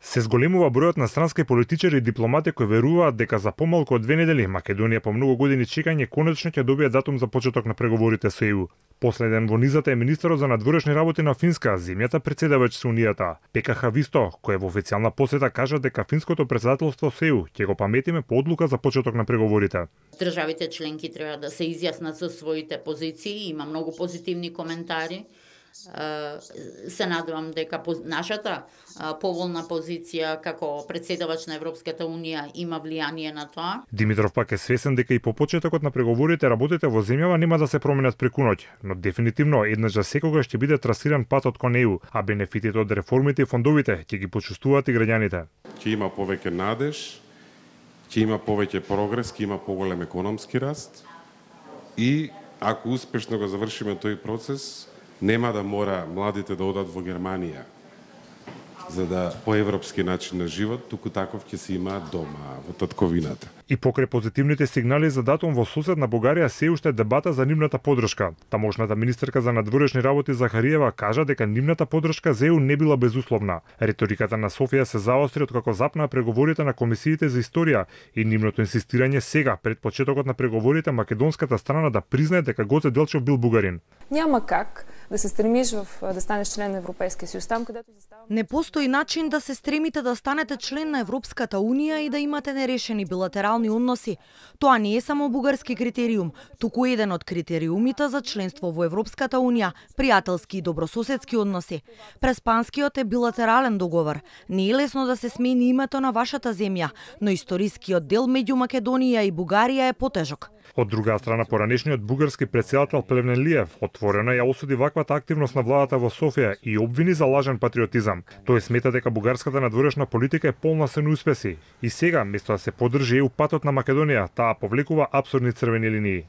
Се зголемува бројот на странски политичари и дипломати кои веруваат дека за помалку од 2 недели Македонија по многу години чекање конечно ќе добие датум за почеток на преговорите со ЕУ. Последен во низата е министерот за надворешни работи на Финска, земјата претседавач со Унијата. Пека Хависто, кој во официјална посета кажа дека финското претседателство со ЕУ ќе го паметиме по одлука за почеток на преговорите. Државите членки треба да се изјаснат со своите позиции, има многу позитивни коментари. Се надевам дека нашата поволна позиција како претседавач на Европската Унија има влијание на тоа. Димитров пак е свесен дека и по почетокот на преговорите работите во земјава нема да се променат преку ноќ, но дефинитивно еднаш за секогаш ќе биде трасиран патот кон ЕУ, а бенефитите од реформите и фондовите ќе ги почувствуваат и граѓаните. Ќе има повеќе надеж, ќе има повеќе прогрес, ќе има поголем економски раст и ако успешно го завршиме тој процес, нема да мора младите да одат во Германија за да по европски начин на живот, туку таков ќе се има дома, во татковината. И покрај позитивните сигнали за датум во соседна Бугарија се уште дебата за нивната поддршка. Тамошната министерка за надворешни работи Захариева кажа дека нивната поддршка за ЕУ не била безусловна. Риториката на Софија се заостри откако запнаа преговорите на комисиите за историја и нивното инсистирање сега пред почетокот на преговорите македонската страна да признае дека Гоце Делчев бил бугарин. Няма как да се стремиш да станеш член на Европейския съюз, там където застава... Не постои начин да се стремите да станете член на Европската унија и да имате нерешени билатерални односи. Тоа не е само бугарски критериум, туку еден од критериумите за членство во Европската унија, пријателски и добрососедски односи. Преспанскиот е билатерален договор. Не е лесно да се смени името на вашата земја, но историскиот дел меѓу Македонија и Бугарија е потежок. Од друга страна, поранешниот бугарски претседател Плевнелиев отворено ја осуди ваквата активност на владата во Софија и обвини за лажен патриотизам. Тој смета дека бугарската надворешна политика е полна со неуспеси и сега, место да се поддржи ЕУ патот на Македонија, таа повлекува апсурдни црвени линии.